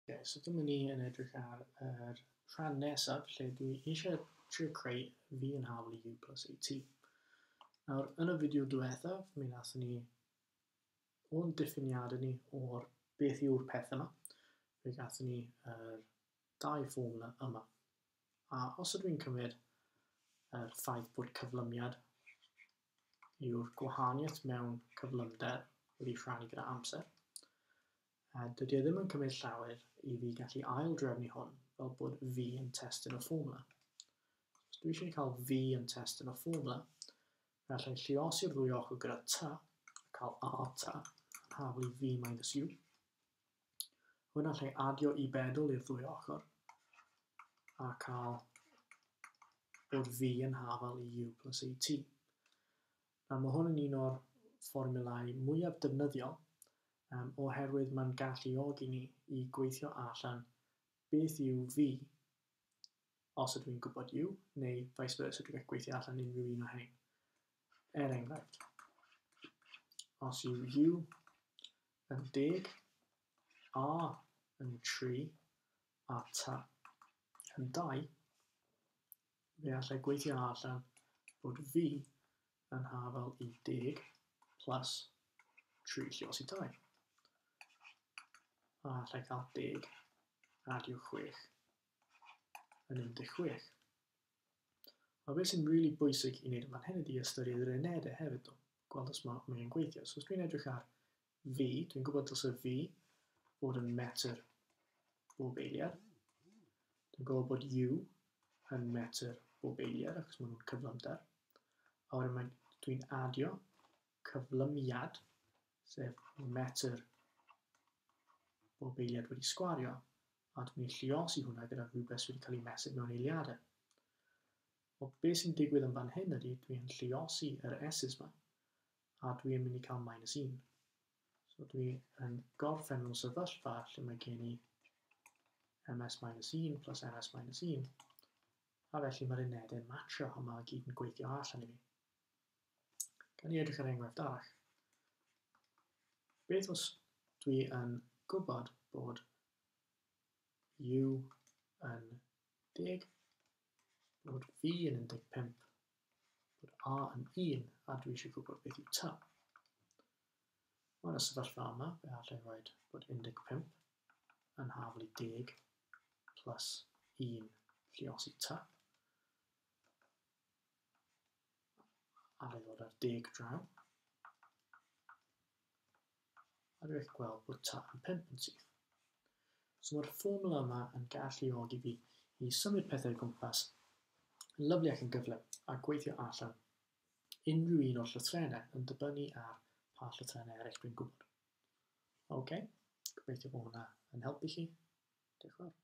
Ok, so dyma ni yn edrych ar yr rhan nesaf lle dwi eisiau trio creu v yn hafal i u plus at. Nawr, yn y fideo diwethaf, mi wnaethon ni o'n diffiniadau ni o'r beth yw'r peth yma, fe gathon ni yr dau fformwla yma. A os ydw i'n cymryd yr ffaith bod cyflymiad yw'r gwahaniaeth mewn cyflymder wedi rhannu gyda amser, a dydy e ddim yn cymryd llawer i fi gallu ail-drefnu hwn fel bod v yn testun y fformwla. Os dwi eisiau cael v yn testun y fformwla, fe allai lluosi'r ddwy ochr gyda t, a cael a t, yn hafal i v minus u. Hwn allai adio i bedol i'r ddwy ochr, a cael bod v yn hafal i u plus at. Nawr mae hwn yn un o'r fformiwlau mwyaf defnyddiol oherwydd mae'n galluogi ni i gweithio allan beth yw v os ydw i'n gwybod u, neu vice versa, dwi'n gallu gweithio allan unrhyw un o hein. Er enghraifft, os yw u yn 10, a yn 3, a t yn 2, fe allai gweithio allan bod v yn hafal i 10 plus 3 lluosi 2. A allai cael 10 adio 6 yn 16. A beth sy'n rili bwysig i wneud yn fan hyn ydy ystyried yr unedau hefyd, ddo, gweld os mae'n gweithio. So os dwi'n edrych ar v, dwi'n gwybod dylse v fod yn metr bob eiliad. Dwi'n gwybod bod u yn metr bob eiliad, achos maen nhw'n cyflymder. A wedyn dwi'n adio cyflymiad, sef metr bob eiliad wedi sgwario, a dwi'n mynd i lluosi hwnna gyda rhywbeth sydd wedi cael ei mesur mewn eiliadau. Wel, beth sy'n digwydd yn fan hyn ydy, dwi'n lluosi yr s's yma, a dwi'n mynd i cael minus 1. So dwi yn gorffen mewn sefyllfa lle mae gen i ms minus 1 plus ms minus 1, a felly mae'r unedau'n matcho a mae gyd yn gweithio allan i fi. Gan i edrych ar enghraifft arall. Beth os dwi yn gwybod bod u yn 10, bod v yn 15, bod a yn 1, a dwi eisiau gwybod beth yw t. Yn y sefyllfa yma, fe allai rhoi bod 15 yn hafal i 10 plus 1 lluosi t. Allai ddod ar 10 draw. A dwi'n gallu gweld bod t yn 5 yn syth. So mae'r fformwla yma yn galluogi fi i symud pethau o gwmpas yn lyfli ac yn gyflym a gweithio allan unrhyw un o'r llythrennau yn dibynnu ar pa llythrennau eraill dwi'n gwybod. Ok, gobeithio bod hwnna yn helpu chi. Diolch yn fawr.